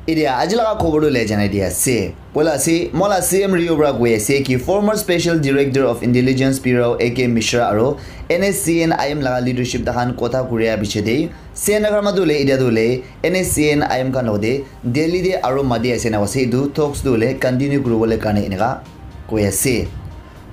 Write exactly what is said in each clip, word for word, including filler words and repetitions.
Etia aji laga khobor tu le janai dia ase. Poila ase, mola C M Rio para koi ase ki former special director of intelligence Bureau A K Mishra aro N S C N I M laga leadership takhan kotha kuria piche de Sena karma tu le etia tu le N S C N I M khan lode Delhi de aro mati ase na ase, etu talks tu le continue kuribole karne eneka koi ase.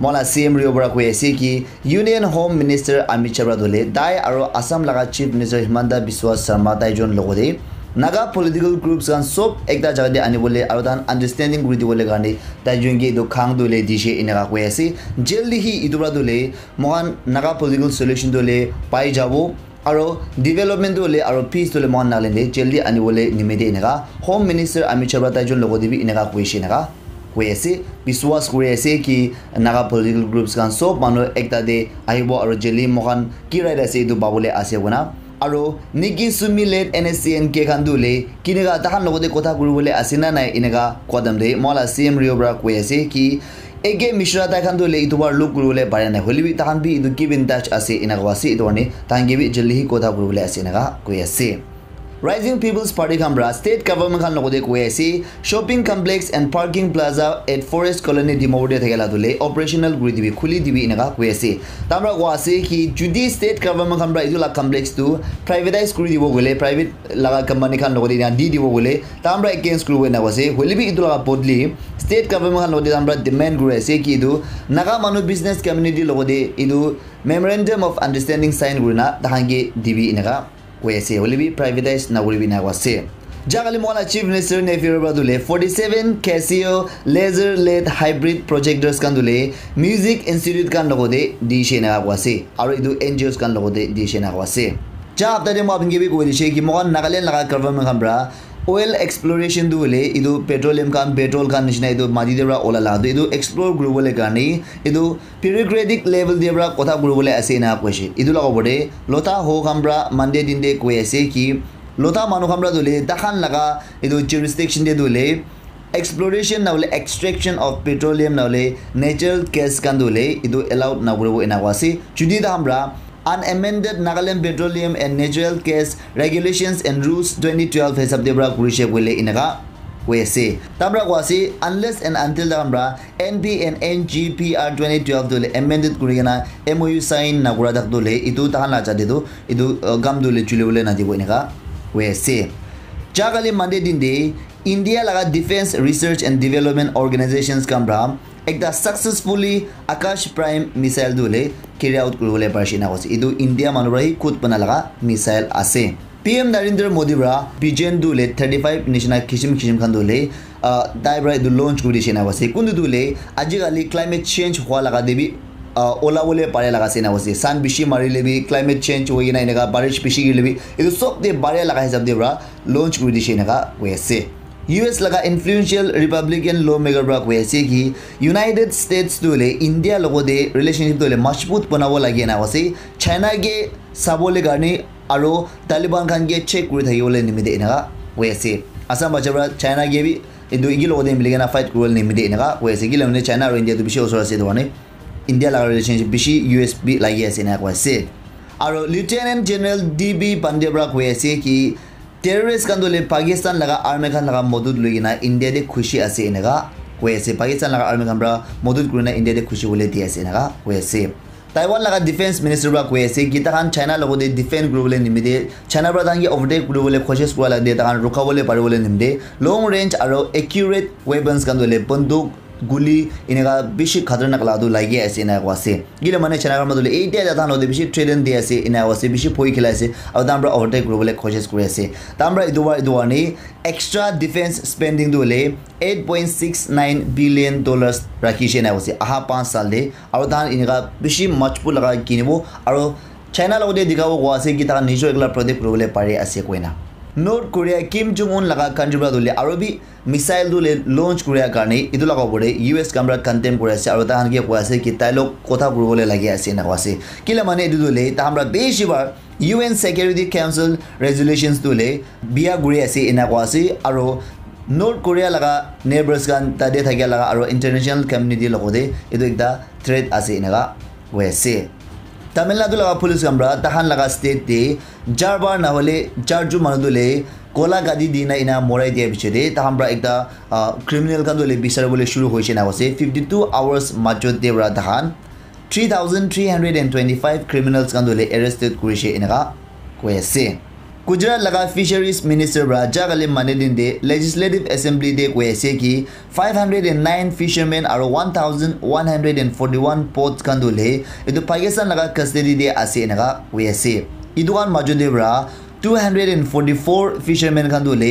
Mola C M Rio para koi ase ki Union Home Minister Amit Shah para dole tai aro Assam laga Chief Minister Himanta Biswa Sarma tai jon logote Naga political groups khan sob ekta jaga te anibole aro tan understanding kuri dibole karne tai jon ke etu khang dole dishe eneka koi ase. Jaldi hi etu para dole mohan Naga political solution dole pai jabo. Aro development tu hoile aro peace tu hoile mohan Nagaland te jaldi anibole nimite eneka Home Minister Amit Shah para tai jon logote bi eneka koishe eneka koi ase. Biswas kuri ase ki Naga political groups khan sob manu ekta te ahibo aro jaldi mohan ki right ase etu pabole ase koina. Aro Niki Sumi led N S C N K khan tu hoile kineka takhan logote kotha kuribole ase na nai eneka kwadam te mola C M Rio para koi ase ki A K Mishra tai khan tu hoile etu bar look kuribole pare nai. Hoile bi takhan bi etu keep in touch ase ena koa ase. Etu karne takhan ke bi jaldi hi kotha kuribole ase eneka koi ase. Rising People's Party khan para state government khan logote koi ase shopping complex and parking plaza at Forest Colony Dimapur te thakela tu le operational kuri dibi, khuli dibi eneka koi ase. Tamra koa ase ki judi state government khan para etu la complex tu privatize kuri dibo gole, private laga company khan logote ena di dibo gole, tamra against kuribo ena koa ase. Hoile bi etu laga bodli state government khan logote tamra demand kuri ase ki etu Naga manu business community logote etu memorandum of understanding sign kurina takhan ke dibi eneka koi ase. Hoile bi privatize na kuribi ena koa ase. Ja kali mola Chief Minister Neiphiu Rio para dule forty seven Casio laser led hybrid projectors khan dule music institute khan logote dishe eneka koa ase. Aro etu N G Os khan logote dishe eneka koa ase. Ja hapta te moi apni ke bi koi dishe ki mohan Nagaland laga government khan para oil exploration tu hoile etu petroleum khan, petrol khan nishina etu mati te para ola la tu etu explore kuribole karne etu bureaucratic level te para kotha kuribole ase ena koishe. Etu laga opor te Lotha ho khan para Monday din te koi ase ki Lotha manu khan para tu hoile takhan laga etu jurisdiction te tu hoile exploration na hoile extraction of petroleum na hoile natural gas khan tu hoile etu allowed na kuribo ena koa ase. Judi takhan para unamended Nagaland Petroleum and Natural Gas Regulations and Rules twenty twelve hisab te para kurishe koile eneka koi ase. Tamra koa ase unless and until takhan para N P and N G P R twenty twelve tu hoile amended kuri kena M O U sign na kura tak tu hoile etu takhan la jate tu etu uh, kam tu hoile chuli bole na dibo eneka koi ase. Ja kali Monday din te India laga Defense Research and Development Organizations khan para ekta successfully Akash Prime missile tu hoile carry out kuribole parishe ena koa ase. Etu India manu para hi khud bana laga missile ase. P M Narendra Modi para vision tu hoile thirty five nishina kishim kishim khan tu hoile uh, tai para etu launch kuri dishe ena koa ase. Kuntu tu hoile aji kali climate change hua laga te bi uh, ola bole pare laga ase ena koa ase. Sun bishi marile bi climate change hoi kena eneka barish bishi girile bi etu sob te bare laga hisab te para launch kuri dishe eneka koi ase. U S laga influential Republican lawmaker para koi ase ki United States tu hoile India logote relationship tu hoile majbut banabo lage ena koa ase. China ke sabole karne aro Taliban khan ke check kuri thakibole nimite eneka koi ase. Assam bacha para China ke bi etu eki logote mili kena fight kuribole nimite eneka koi ase. Kile mane China aro India tu bishi osor ase etu karne India laga relationship bishi U S bi lagi ase eneka koi ase. Aro Lieutenant General D B Pandey para koi ase ki terrorist khan tu hoile Pakistan laga army khan laga modut loi kena India te khushi ase eneka koi ase. Pakistan laga army khan para modut kurina India te khushi bole di ase eneka koi ase. Taiwan laga defense minister para koi ase ki takhan China logote defend kuribole nimite China para takhan ke overtake kuribole koshish kura la de takhan rukabole paribole nimite long range aro accurate weapons khan tu hoile banduk guli eneka bishi khatarnak la tu lagi ase ena koa ase. Kile mane China khan tu hoile etia takhan logote bishi threaten di ase ena koa ase, bishi bhoi khilai ase aro takhan para overtake kuribole koshish kuri ase. Takhan para etu para etu karne extra defense spending tu hoile eight point six nine billion dollars rakhishe ena koa ase aha panch saal te. Aro takhan eneka bishi majbut laga kinibo aro China logote dikhabo koa ase ki takhan nijor ekla protect kuribole pari ase koina. North Korea Kim Jong Un laga country para tu hoile aro bi missile tu hoile launch kuria karne etu laga opor te U S khan para condemn kuri ase aro takhan ke koi ase ki tai log kotha kuribole lagi ase ena koa ase. Kile mane etu tu hoile takhan para bishi bar U N Security Council resolutions tu hoile bia kuri ase ena koa ase aro North Korea laga neighbors khan tate thakia laga aro international community logote etu ekta threat ase eneka koi ase. Tamil Nadu laga police khan pra tahan laga state te jarbar nahole jarju manu tu le kola gadi dina ina morai dia biche de tahan pra ekta uh, criminal khan tu le bisar bole shuru hoise na ase. Fifty two hours majot de pra tahan three thousand three hundred and twenty five criminals khan tu le arrested kurise enaka koi ase. Gujarat laga fisheries minister pra jagali mane din de legislative assembly de koi ase ki five hundred and nine fishermen aro one thousand one hundred and forty one boats khan tu le etu Pakistan laga custody de ase enaka koi ase. Etu khan majot de pra two hundred and forty four fishermen khan tu le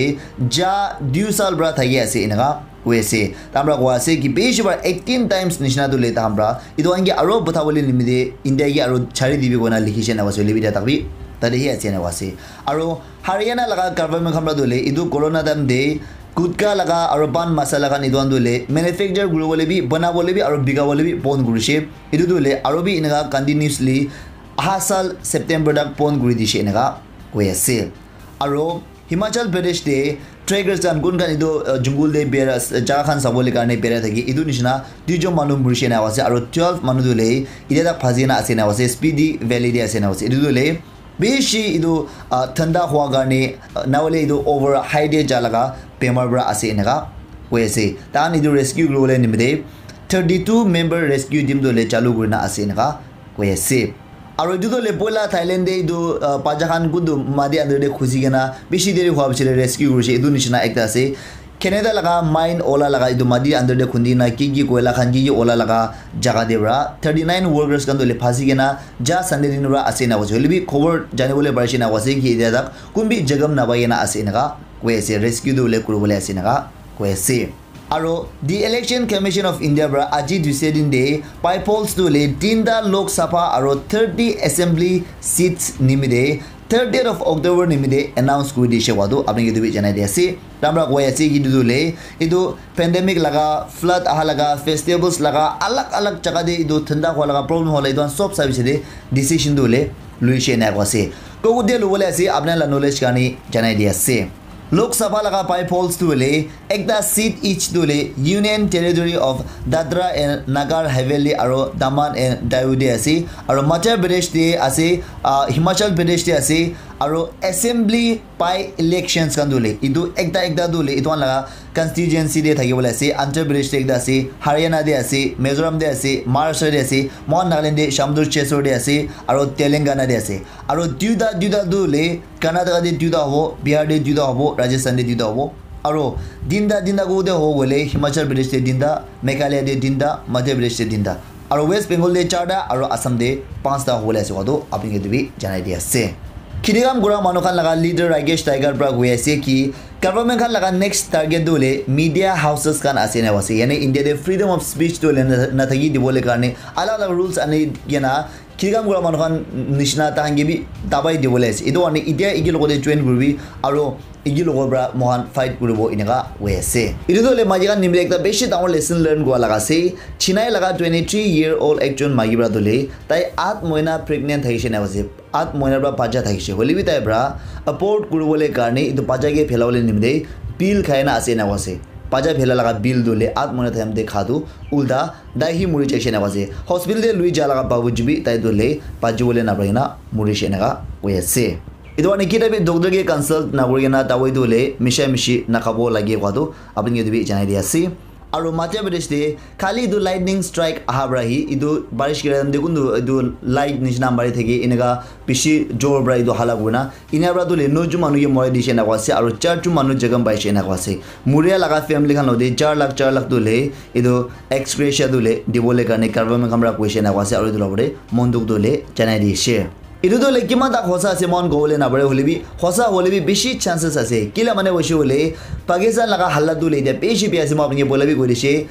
ja dui sal pra thaki ase enaka koi ase. Tamra koi ase ki bishi bar eighteen times nishina tu le tamra. Etu ange aro botha bole nimide India ke aro chari dibi kona likhi se na wase lebi tak bi. Tade hi ase na wase. Aro Haryana laga government khamra tu le etu corona time de gutka laga aro pan masala khan etu tu le manufacture guru bole bi bana bole bi aro biga bole bi bon guru she. Etu tu le aro bi inaka continuously aha sal September tak bon guri di she inaka koi ase. Aro Himachal Pradesh te trekkers khan kun khan etu uh, jungle te bera jaga khan sabole karne bera thaki etu nishina duijon manu murishe na ase aro twelve manu tu le etia tak phasi na ase na ase Spiti Valley te ase na ase etu tu le bishi etu uh, thanda hua karne uh, na hole etu over high te ja laga bemar pra ase enaka koi ase. Tahan etu rescue kuri bole nimite thirty two member rescue team tu le chalu kurina ase enaka koi ase. Aro etu tu le poila Thailand de etu uh, paja khan kuntu mati under de khusi kena bishi deri hua bishi rescue kurise etu nishina ekta ase. Canada laga mine ola laga etu mati under de khundi na ki ki koila khan ki ki ola laga jaga de pra thirty nine workers khan tu le phasi kena ja Sunday din pra ase na koi ase. Hoile bi khobor jani bole parise na koi ase ki etia tak kun bi jagam na pai kena ase enaka koi ase. Rescue tu le kuri bole ase enaka koi ase. Aro the Election Commission of India pra aji Tuesday din de by polls tu le tinta Lok Sabha aro thirty assembly seats nimide thirtieth of October nimide announce kuri dishe koa tu apni ke tu bi janai di ase. Tamra koi ase ki tu le etu pandemic laga flood aha laga festivals laga alag alag jaga de etu thanda hua laga problem hola etu khan sob sabi se de decision tu le luishe na ko ase. Koku de lubole ase apna la knowledge karni janai di ase. Lok Sabha laga by polls tu hoile ekta seat each tu hoile Union Territory of Dadra and Nagar Haveli aro Daman and Diu de ase aro Madhya Pradesh de ase uh, Himachal Pradesh de ase aro assembly by elections khan tu hoile etu ekta ekta tu hoile etu khan laga constituency de thaki bole ase. Andhra Pradesh de ekta ase, Haryana de ase, Mizoram de ase, Maharashtra de ase, mohan Nagaland de Shamdur Chesur de ase aro Telangana de ase. Aro duita duita tu hoile Karnataka te duita hobo, Bihar te duita hobo, Rajasthan te duita hobo. Aro tinta tinta ko te hobo koile Himachal Pradesh te tinta, Meghalaya te tinta, Madhya Pradesh te tinta. Aro West Bengal te charta aro Assam te panchta hobole ase koa tu apni ke tu bi janai di ase. Khiti kam kura manu khan laga leader Rakesh Tiger pra koi ase ki government khan laga next target tu hoile media houses khan ase na ase. Yane India te freedom of speech tu hoile na thaki dibole karne alag alag rules ani kena Khiti kam kura manu khan nishina tahan ke bi dabai dibole ase. Etu karne etia eki logote join kuribi aro eki logo pra mohan fight kuribo eneka hoi ase. Etu tu hoile maiki khan nimite ekta bishi dangor lesson learn kura laga ase. Chennai laga twenty three year old ekjon maiki pra tu hoile tai at moina pregnant thakishe na ase. At moina pra bacha thakishe. Hoile bi tai pra abort kuribole karne etu bacha ke phelabole nimite pill khai na ase eneka ase. Bacha phela laga pill tu hoile at moina time te kha tu ulta tai hi muri jaishe eneka ase. Hospital te lui ja laga babuji bi tai tu hoile bachi bole na pari na murishe eneka hoi ase. Etu karne kita bi doctor ke consult na kuri kena dawai tu hoile misha mishi na khabo lage koa tu apni ke tu bi janai di ase. Aru Madhya Pradesh te khali etu lightning strike aha para hi etu barish kira time te kuntu etu light nishina mari thaki eneka bishi jor para etu hala kurina enia para tu hoile noijon manu ke morai dishe eneka ase aru charjon manu jokhom paishe eneka ase. Muria laga family khan lode char lakh char lakh tu hoile etu ex gratia tu hoile dibole karne government khan para koishe eneka ase aru etu la opor te mon dukh tu hoile janai dishe. Etu tu hoile kiman tak hosa ase moikhan kobole napare hoile bi hosa hoile bi bishi chances ase kila mane hoishe hoile Pakistan laga halat tu hoile etia bishi bia ase moi apni ke poila bi koi dishe.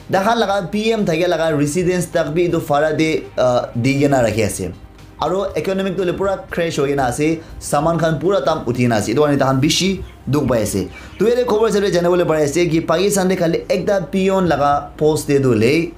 Takhan laga P M thake laga residence tak bi etu bhara te ah, di kena rakhi ase. Aro economic tu hoile pura crash hoi kena ase, saman khan pura dam uthi kena ase. Etu karne takhan bishi dukh pai ase. Tu yate khobor hisab te jana bole pari ase ki Pakistan te khali ekta peon laga post te tu hoile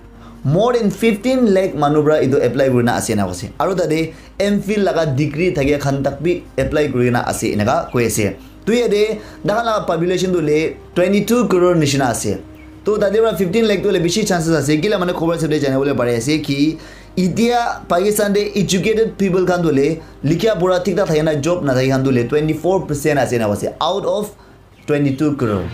more than fifteen lakh manu para etu apply kurina ase ena koise. Aro tate M Phil laga degree thakia khan tak bi apply kurina ase eneka koi ase. Tu yate takhan laga population tu hoile twenty two crore nishina ase. To tate para fifteen lakh tu hoile bishi chances ase. Kila mane khobor hisab te jana bole pari ase ki Itia Pakistan te educated people khan tu le likha pura thik thak thakina job na thaki khan tu le twenty four percent ase na ase out of twenty two crore.